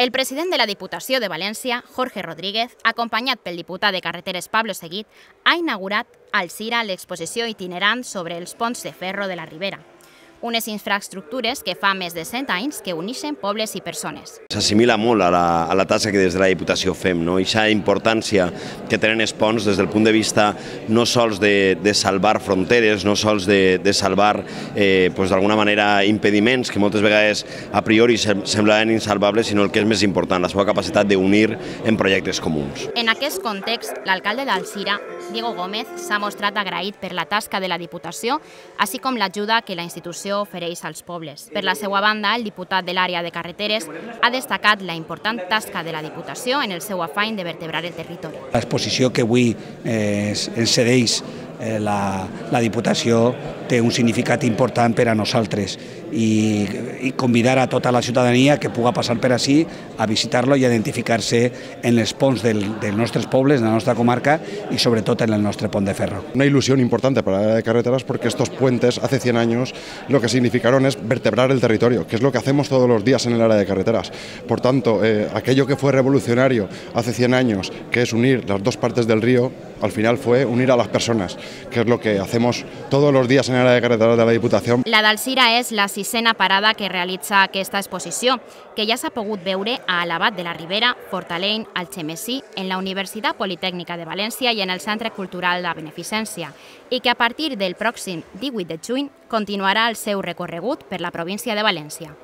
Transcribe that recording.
El president de la Diputació de València, Jorge Rodríguez, acompanyat pel diputat de Carreteres Pablo Seguit, ha inaugurat a Alzira l'exposició itinerant sobre els ponts de ferro de la Ribera, unes infraestructures que fa més de 100 anys que uneixen pobles i persones. S'assimila molt a la tasca que des de la Diputació fem, no? I aquesta importància que tenen els ponts des del punt de vista no sols de salvar fronteres, no sols de salvar d'alguna manera impediments que moltes vegades a priori semblaven insalvables, sinó el que és més important, la seva capacitat d'unir en projectes comuns. En aquest context, l'alcalde d'Alzira, Diego Gómez, s'ha mostrat agraït per la tasca de la Diputació, així com l'ajuda que la institució ofereix als pobles. Per la seva banda, el diputat de l'àrea de carreteres ha destacat la important tasca de la Diputació en el seu afany de vertebrar el territori. L'exposició que avui ens cedeix la Diputació té un significat important per a nosaltres i convidar a tota la ciutadania que puga passar per ací a visitar-lo i a identificar-se en els ponts dels nostres pobles, de la nostra comarca y sobre todo en el nuestro pont de ferro. Una ilusión importante para la área de carreteras porque estos puentes hace 100 años lo que significaron es vertebrar el territorio, que es lo que hacemos todos los días en el área de carreteras. Por tanto, aquello que fue revolucionario hace 100 años, que es unir las dos partes del río, al final fue unir a las personas, que es lo que hacemos todos los días en el área de carreteras de la Diputación. La d'Alzira és la 6a parada que realitza aquesta exposició, que ja s'ha pogut veure a Alabat de la Ribera, Fortaleny, Algemesí, en la Universitat Politècnica de València i en el Centre Cultural de Beneficència, i que a partir del pròxim 18 de juny continuarà el seu recorregut per la província de València.